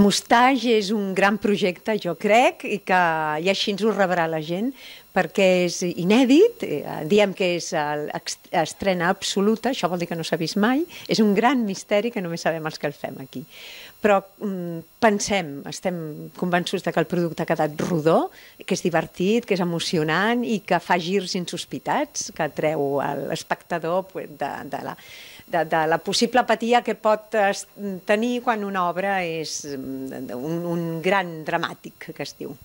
Mustache és un gran projecte, jo crec, i així ens ho rebrà la gent, perquè és inèdit, diem que és estrena absoluta, això vol dir que no s'ha vist mai, és un gran misteri que només sabem els que el fem aquí. Però pensem, estem convençuts que el producte ha quedat rodó, que és divertit, que és emocionant i que fa girs insospitats, que treu l'espectador de la possible apatia que pot tenir quan una obra és un gran dramàtic, que es diu.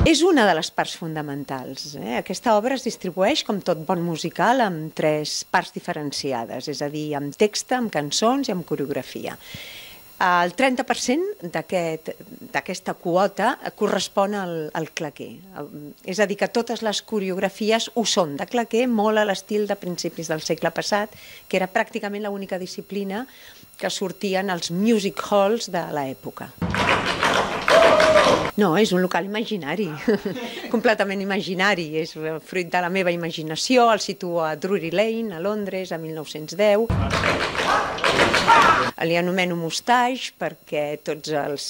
És una de les parts fonamentals. Aquesta obra es distribueix, com tot bon musical, amb 3 parts diferenciades, és a dir, amb text, amb cançons i amb coreografia. El 30% d'aquesta quota correspon al claqué. És a dir, que totes les coreografies ho són de claqué, molt a l'estil de principis del segle passat, que era pràcticament l'única disciplina que sortien als music halls de l'època. No, és un local imaginari, completament imaginari, és fruit de la meva imaginació, el situo a Drury Lane, a Londres, a 1910. Li anomeno Mustache perquè tots els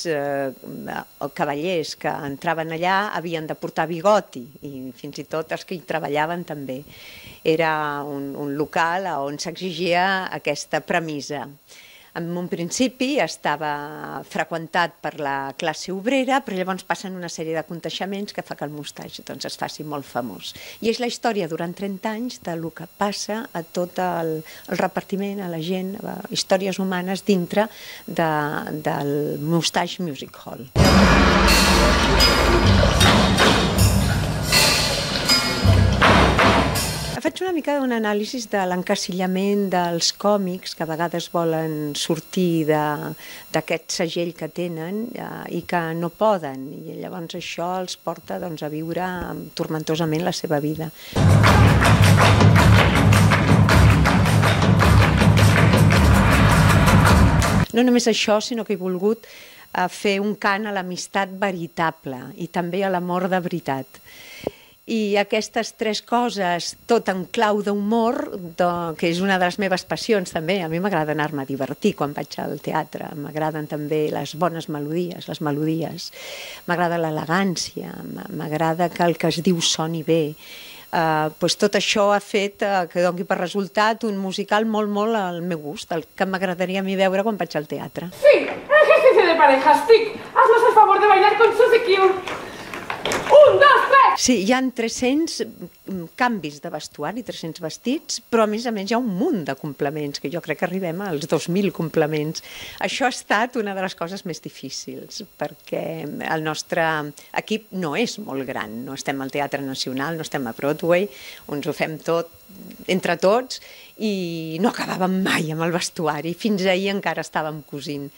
cavallers que entraven allà havien de portar bigoti i fins i tot els que hi treballaven també. Era un local on s'exigia aquesta premissa. En un principi estava freqüentat per la classe obrera, però llavors passen una sèrie de aconteixements que fa que el Mustache es faci molt famós. I és la història durant 30 anys del que passa a tot el repartiment, a la gent, a històries humanes dintre del Mustache Music Hall. Faig una mica d'un anàlisi de l'encasillament dels còmics que a vegades volen sortir d'aquest segell que tenen i que no poden, i llavors això els porta a viure tormentosament la seva vida. No només això, sinó que he volgut fer un cant a l'amistat veritable i també a l'amor de veritat. I aquestes 3 coses, tot en clau d'humor, que és una de les meves passions també. A mi m'agrada anar-me a divertir quan vaig al teatre, m'agraden també les bones melodies, les melodies, m'agrada l'elegància, m'agrada que el que es diu soni bé. Tot això ha fet que doni per resultat un musical molt al meu gust, el que m'agradaria a mi veure quan vaig al teatre. Sí, ejercicio de parejas, Tic, haznos el favor de bailar con Suzy Q. 1, 2, 3! Sí, hi ha 300 canvis de vestuari, 300 vestits, però a més hi ha un munt de complements, que jo crec que arribem als 2.000 complements. Això ha estat una de les coses més difícils, perquè el nostre equip no és molt gran, no estem al Teatre Nacional, no estem a Broadway, ens ho fem tot entre tots i no acabàvem mai amb el vestuari, fins ahir encara estàvem cosint.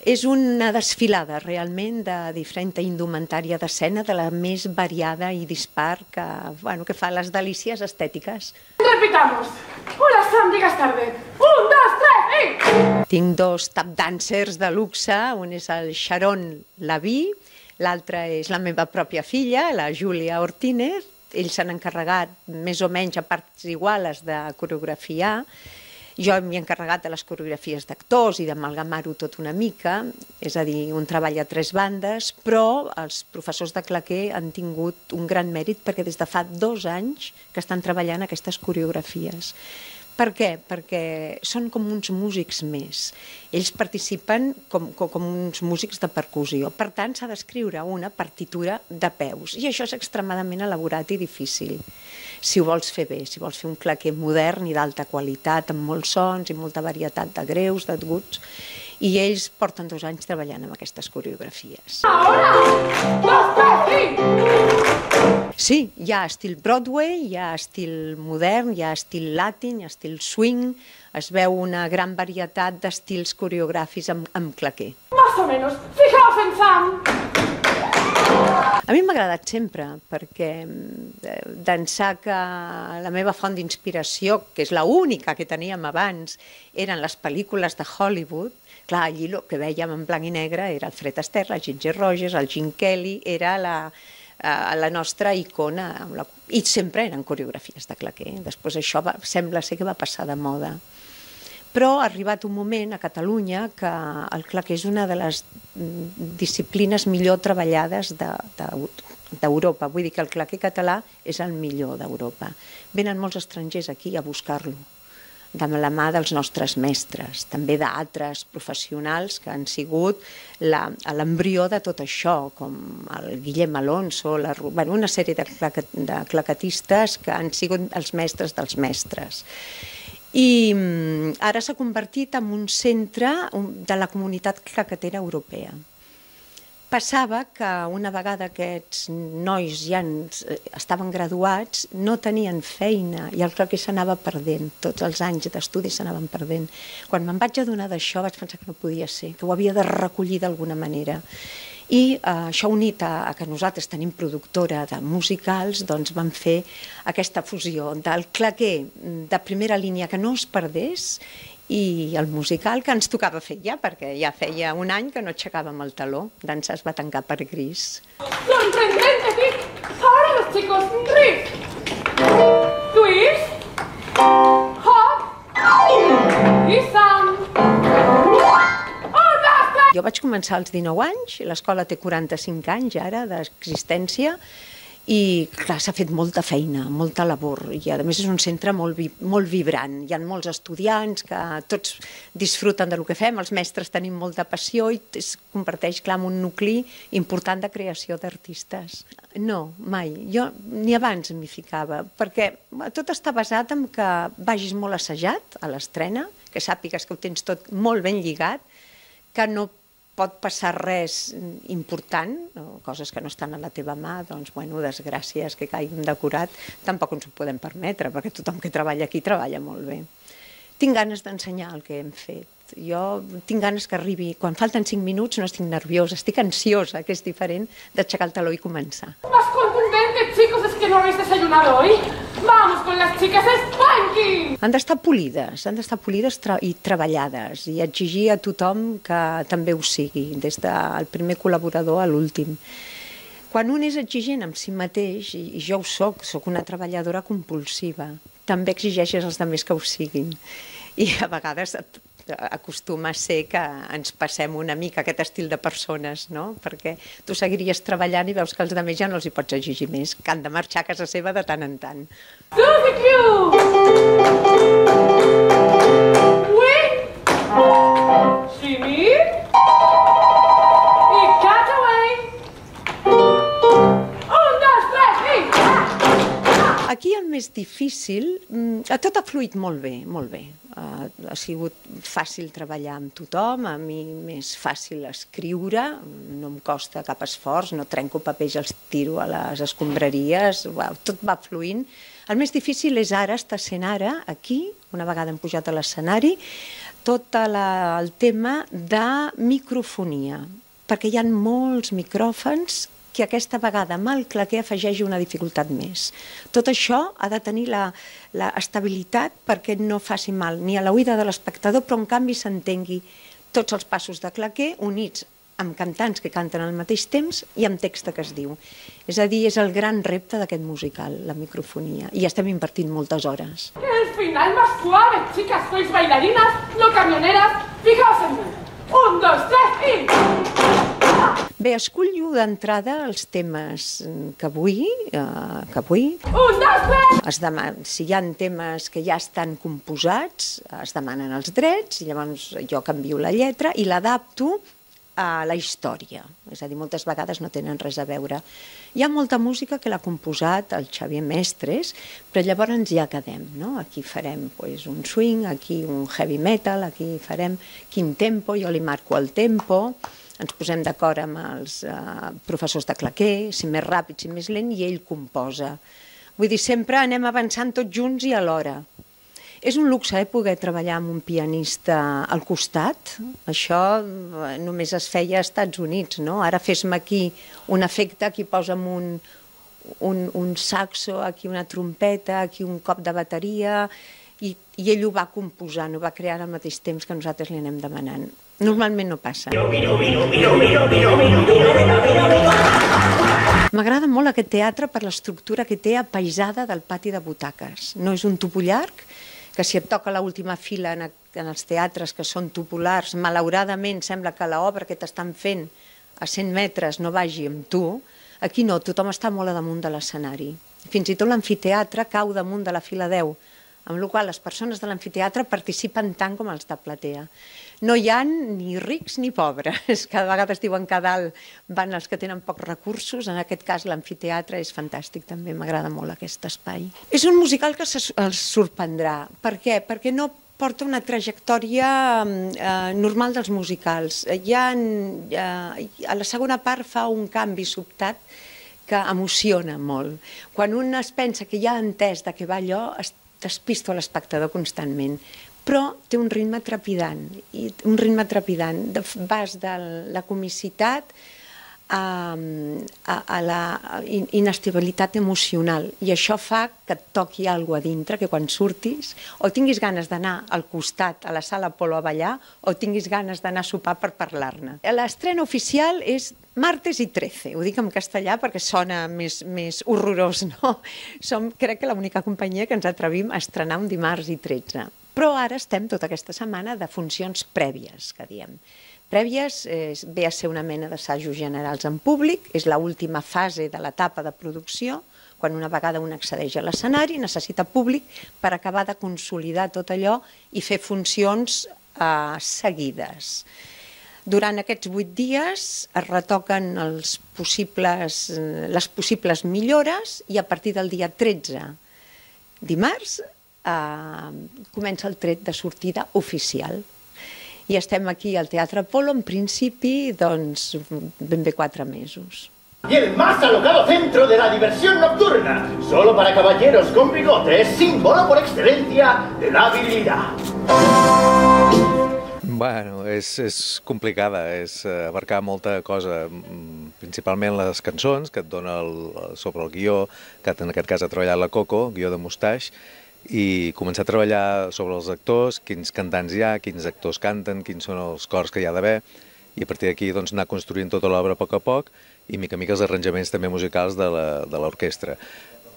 És una desfilada realment de diferent indumentària d'escena, de la més variada i dispar que fa les delícies estètiques. Repitamos. Hola Sam, llegas tarde. 1, 2, 3, y... Tinc 2 tap dancers de luxe, un és el Sharon Laví, l'altre és la meva pròpia filla, la Júlia Ortínez. Ells s'han encarregat més o menys a parts iguales de coreografiar. Jo m'he encarregat de les coreografies d'actors i d'amalgamar-ho tot una mica, és a dir, un treball a 3 bandes, però els professors de claqué han tingut un gran mèrit perquè des de fa 2 anys que estan treballant aquestes coreografies. Per què? Perquè són com uns músics més. Ells participen com uns músics de percussió. Per tant, s'ha d'escriure una partitura de peus. I això és extremadament elaborat i difícil. Si ho vols fer bé, si vols fer un claqué modern i d'alta qualitat, amb molts sons i molta varietat de greus, d'aguts, i ells porten 2 anys treballant amb aquestes coreografies. Sí, hi ha estil Broadway, hi ha estil modern, hi ha estil latin, hi ha estil swing, es veu una gran varietat d'estils coreogràfics amb claqué. Más o menos, fijaos en Sam. A mi m'ha agradat sempre, perquè d'ençà que la meva font d'inspiració, que és l'única que teníem abans, eren les pel·lícules de Hollywood. Clar, allí el que vèiem en blanc i negre era el Fred Astaire, la Ginger Rogers, el Gene Kelly, era la nostra icona, i sempre eren coreografies de claqué. Després això sembla ser que va passar de moda. Però ha arribat un moment a Catalunya que el claqué és una de les disciplines millor treballades d'Europa. Vull dir que el claqué català és el millor d'Europa. Venen molts estrangers aquí a buscar-lo, de la mà dels nostres mestres, també d'altres professionals que han sigut l'embrió de tot això, com el Guillem Alonso, una sèrie de claquetistes que han sigut els mestres dels mestres. I ara s'ha convertit en un centre de la comunitat claquetera europea. Passava que una vegada aquests nois ja estaven graduats, no tenien feina i el claqué s'anava perdent, tots els anys d'estudi s'anaven perdent. Quan me'n vaig adonar d'això vaig pensar que no podia ser, que ho havia de recollir d'alguna manera. I això unit a que nosaltres tenim productora de musicals, doncs vam fer aquesta fusió del claqué de primera línia que no es perdés i el musical que ens tocava fer ja, perquè ja feia un any que no aixecàvem el taló. Dansa es va tancar per gris. ¡Sorprendente, Vic! Ahora los chicos, riff, twist, hop y sam. Jo vaig començar als 19 anys, l'escola té 45 anys ara d'existència, i clar, s'ha fet molta feina, molta labor, i a més és un centre molt vibrant. Hi ha molts estudiants que tots disfruten del que fem, els mestres tenim molta passió i es converteix, clar, en un nucli important de creació d'artistes. No, mai. Jo ni abans m'hi ficava, perquè tot està basat en que vagis molt assajat a l'estrena, que sàpigues que ho tens tot molt ben lligat, que no pot passar res important, coses que no estan a la teva mà, doncs, bueno, desgràcies que caigui un decorat, tampoc ens ho podem permetre, perquè tothom que treballa aquí treballa molt bé. Tinc ganes d'ensenyar el que hem fet. Jo tinc ganes que arribi, quan falten 5 minuts no estic nerviosa, estic ansiosa, que és diferent d'aixecar el taló i començar. Más contundente, chicos, es que no habéis desayunado hoy. Vamos con las chicas Spanky! Han d'estar polides i treballades i exigir a tothom que també ho sigui, des del primer col·laborador a l'últim. Quan un és exigent amb si mateix, i jo ho soc una treballadora compulsiva, també exigeixes als altres que ho siguin. I a vegades acostuma a ser que ens passem una mica aquest estil de persones, no? Perquè tu seguiries treballant i veus que els altres ja no els hi pots exigir més, que han de marxar a casa seva de tant en tant. Suzy Q! Wing! Shimmy! I Cutaway! 1, 2, 3, i... Aquí el més difícil, tot ha fluït molt bé, molt bé. Ha sigut fàcil treballar amb tothom, a mi m'és fàcil escriure, no em costa cap esforç, no trenco papers i els tiro a les escombraries, tot va fluint. El més difícil és ara, està sent ara, aquí, una vegada hem pujat a l'escenari, tot el tema de microfonia, perquè hi ha molts micròfons que aquesta vegada amb el claqué afegeix una dificultat més. Tot això ha de tenir l'estabilitat perquè no faci mal ni a l'oïda de l'espectador, però en canvi s'entengui tots els passos de claqué units amb cantants que canten al mateix temps i amb text que es diu. És a dir, és el gran repte d'aquest musical, la microfonia, i estem invertint moltes hores. El final más suave, chicas, sois bailarinas, no camioneras, fijaos en mí. 1, 2, 3, i... Bé, escollo d'entrada els temes que vull. 1, 2, 3! Si hi ha temes que ja estan composats, es demanen els drets, i llavors jo canvio la lletra i l'adapto a la història. És a dir, moltes vegades no tenen res a veure. Hi ha molta música que l'ha composat el Xavier Mestres, però llavors ja quedem, no? Aquí farem un swing, aquí un heavy metal, aquí farem quin tempo, jo li marco el tempo, ens posem d'acord amb els professors de claqué, si més ràpid, si més lent, i ell composa. Vull dir, sempre anem avançant tots junts i alhora. És un luxe poder treballar amb un pianista al costat. Això només es feia als Estats Units, no? Ara fes-me aquí un efecte, aquí posa'm un saxo, aquí una trompeta, aquí un cop de bateria, i ell ho va composant, ho va crear al mateix temps que nosaltres li anem demanant. Normalment no passa. M'agrada molt aquest teatre per l'estructura que té apaisada del pati de butaques. No és un tupó llarg, que si et toca l'última fila en els teatres que són tupolars, malauradament sembla que l'obra que t'estan fent a 100 metres no vagi amb tu. Aquí no, tothom està molt a damunt de l'escenari. Fins i tot l'amfiteatre cau damunt de la fila 10, amb la qual cosa les persones de l'amfiteatre participen tant com els de platea. No hi ha ni rics ni pobres. Cada vegada es diuen que a dalt van els que tenen pocs recursos. En aquest cas l'amfiteatre és fantàstic també, m'agrada molt aquest espai. És un musical que els sorprendrà. Per què? Perquè no porta una trajectòria normal dels musicals. A la segona part fa un canvi sobtat que emociona molt. Quan un es pensa que ja ha entès de què va allò, es despista l'espectador constantment. Però té un ritme trepidant, vas de la comicitat a la inestabilitat emocional, i això fa que et toqui alguna cosa a dintre, que quan surtis o tinguis ganes d'anar al costat a la sala Apolo a ballar o tinguis ganes d'anar a sopar per parlar-ne. L'estrena oficial és martes i 13, ho dic en castellà perquè sona més horrorós, no? Som, crec que, l'única companyia que ens atrevim a estrenar un dimarts i 13. Però ara estem tota aquesta setmana de funcions prèvies, que diem. Prèvies ve a ser una mena d'assajos generals en públic, és l'última fase de l'etapa de producció, quan una vegada un accedeix a l'escenari, necessita públic per acabar de consolidar tot allò i fer funcions seguides. Durant aquests 8 dies es retoquen les possibles millores i a partir del dia 13, dimarts, comença el tret de sortida oficial. I estem aquí al Teatre Apolo, en principi, doncs, ben bé 4 mesos. Y el más alocado centro de la diversión nocturna, solo para caballeros con bigotes, símbolo por excelencia de la virilidad. Bueno, és complicada, és abarcar molta cosa, principalment les cançons, que et dona sobre el guió, que en aquest cas ha treballat la Coco, guió de Mustaix, i començar a treballar sobre els actors, quins cantants hi ha, quins actors canten, quins són els cors que hi ha d'haver, i a partir d'aquí doncs, anar construint tota l'obra a poc i mica en mica els arranjaments també musicals de l'orquestra.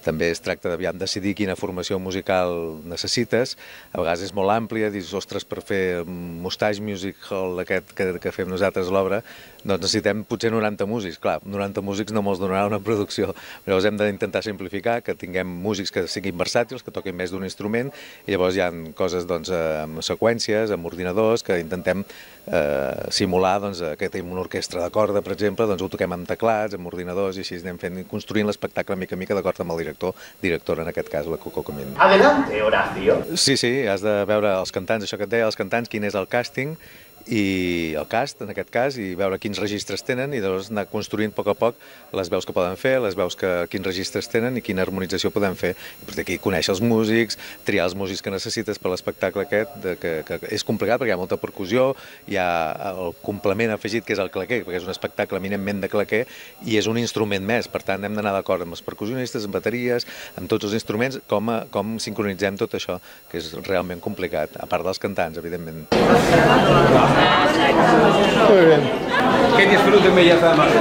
També es tracta de decidir quina formació musical necessites. A vegades és molt àmplia, dius, ostres, per fer Mustaix Music Hall aquest que fem nosaltres l'obra, doncs necessitem potser 90 músics. Clar, 90 músics no molts donarà una producció. Llavors hem d'intentar simplificar, que tinguem músics que siguin versàtils, que toquin més d'un instrument, i llavors hi ha coses amb seqüències, amb ordinadors, que intentem simular que tenim una orquestra de corda, per exemple, doncs ho toquem amb teclats, amb ordinadors, i així anem construint l'espectacle mica en mica d'acord amb el directora, en aquest cas, la Coco Comín. Adelante, Horacio. Sí, has de veure els cantants, això que et deia, els cantants, quin és el càsting, i el cast, en aquest cas, i veure quins registres tenen, i llavors anar construint a poc les veus que poden fer, les veus quins registres tenen i quina harmonització podem fer. I per aquí conèixer els músics, triar els músics que necessites per l'espectacle aquest, que és complicat perquè hi ha molta percussió, hi ha el complement afegit que és el claquer, perquè és un espectacle eminentment de claquer i és un instrument més, per tant hem d'anar d'acord amb els percussionistes, amb bateries, amb tots els instruments, com sincronitzem tot això, que és realment complicat, a part dels cantants, evidentment. Muy bien. Que disfruten Bellas Damas.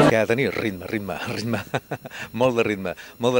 Que ha de tenir ritme, molt de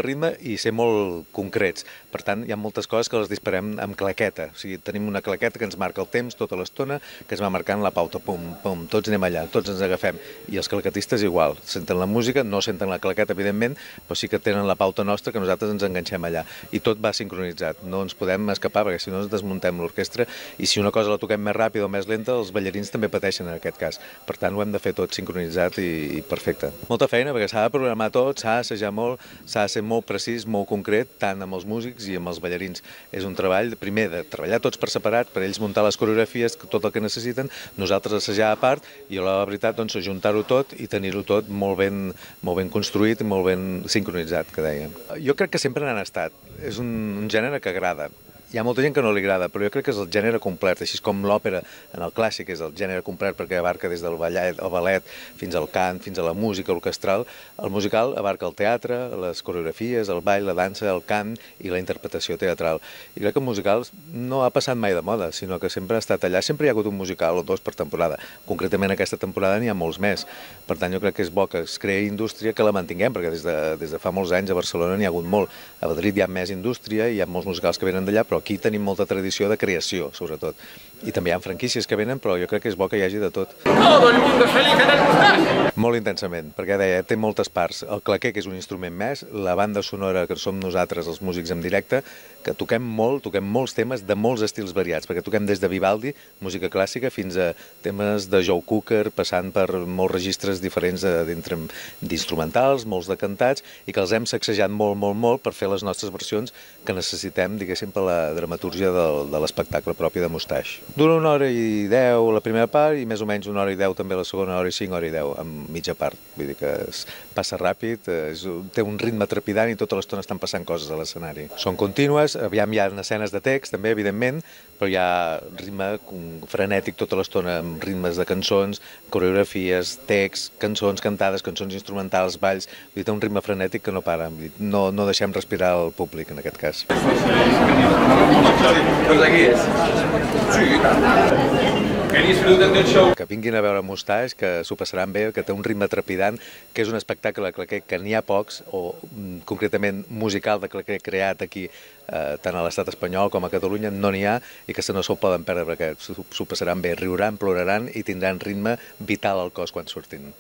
ritme i ser molt concrets. Per tant, hi ha moltes coses que les disparem amb claqueta. O sigui, tenim una claqueta que ens marca el temps tota l'estona, que es va marcant la pauta, pum, pum, tots anem allà, tots ens agafem. I els claquetistes igual, senten la música, no senten la claqueta, evidentment, però sí que tenen la pauta nostra que nosaltres ens enganxem allà. I tot va sincronitzat, no ens podem escapar, perquè si no ens desmuntem l'orquestra, i si una cosa la toquem més ràpida o més lenta, els ballarins també pateixen en aquest cas. Per tant, ho hem de fer tot sincronitzat i perfecte. Molta feina, perquè s'ha de programar tot, s'ha d'assajar molt, s'ha de ser molt precís, molt concret, tant amb els músics i amb els ballarins. És un treball, primer, de treballar tots per separat, per ells muntar les coreografies, tot el que necessiten, nosaltres assajar a part, i la veritat, doncs, ajuntar-ho tot i tenir-ho tot molt ben construït i molt ben sincronitzat, que dèiem. Jo crec que sempre n'han estat. És un gènere que agrada. Hi ha molta gent que no li agrada, però jo crec que és el gènere complet, així com l'òpera en el clàssic és el gènere complet perquè abarca des del ballet fins al cant, fins a la música orquestral. El musical abarca el teatre, les coreografies, el ball, la dansa, el cant i la interpretació teatral. I crec que el musical no ha passat mai de moda, sinó que sempre ha estat allà. Sempre hi ha hagut un musical o dos per temporada. Concretament aquesta temporada n'hi ha molts més. Per tant, jo crec que és bo que es creï indústria, que la mantinguem, perquè des de fa molts anys a Barcelona n'hi ha hagut molt. A Madrid hi ha més indústria, hi ha molts musicals que venen d'allà, però aquí tenim molta tradició de creació, sobretot. I també hi ha franquícies que venen, però jo crec que és bo que hi hagi de tot. Todo el mundo feliz en el Mustache. Molt intensament, perquè deia, té moltes parts. El claquer, que és un instrument més, la banda sonora, que som nosaltres, els músics en directe, que toquem molts temes de molts estils variats, perquè toquem des de Vivaldi, música clàssica, fins a temes de Joe Cocker, passant per molts registres diferents d'instrumentals, molts de cantats, i que els hem sacsejat molt per fer les nostres versions que necessitem, diguéssim, per la dramatúrgia de l'espectacle propi de Mustache. Dura 1 hora i 10 la primera part i més o menys 1 hora i 10 també la segona, 1 hora i 5, 1 hora i 10, amb mitja part. Vull dir que passa ràpid, té un ritme trepidant i tota l'estona estan passant coses a l'escenari. Són contínues, aviam hi ha escenes de text també, evidentment, però hi ha ritme frenètic tota l'estona, amb ritmes de cançons, coreografies, text, cançons cantades, cançons instrumentals, balls, vull dir, té un ritme frenètic que no para, no deixem respirar el públic en aquest cas. Doncs aquí és. Sí. Que disfruten del show. Que vinguin a veure Mustache, que s'ho passaran bé, que té un ritme trepidant, que és un espectacle que n'hi ha pocs, o concretament musical de claquer creat aquí, tant a l'estat espanyol com a Catalunya, no n'hi ha, i que no se'l poden perdre, perquè s'ho passaran bé, riuran, ploraran i tindran ritme vital al cos quan surtin.